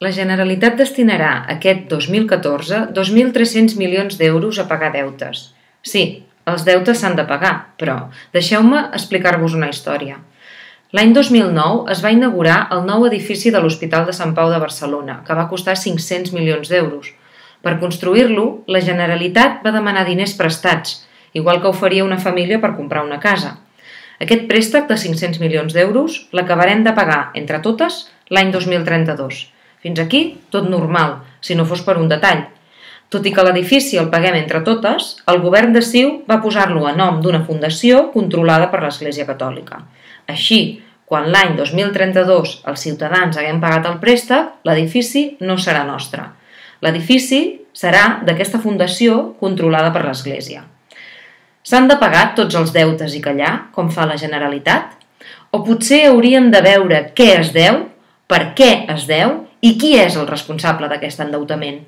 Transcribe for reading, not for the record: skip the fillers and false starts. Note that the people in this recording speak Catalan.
La Generalitat destinarà aquest 2014 2.300 milions d'euros a pagar deutes. Sí, els deutes s'han de pagar, però deixeu-me explicar-vos una història. L'any 2009 es va inaugurar el nou edifici de l'Hospital de Sant Pau de Barcelona, que va costar 500 milions d'euros. Per construir-lo, la Generalitat va demanar diners prestats, igual que ho faria una família per comprar una casa. Aquest préstec de 500 milions d'euros l'acabarem de pagar, entre totes, l'any 2032. Fins aquí, tot normal, si no fos per un detall. Tot i que l'edifici el paguem entre totes, el govern de CiU va posar-lo a nom d'una fundació controlada per l'Església Catòlica. Així, quan l'any 2032 els ciutadans haguem pagat el préstec, l'edifici no serà nostre. L'edifici serà d'aquesta fundació controlada per l'Església. S'han de pagar tots els deutes i callar, com fa la Generalitat? O potser hauríem de veure què es deu, per què es deu i qui és el responsable d'aquest endeutament?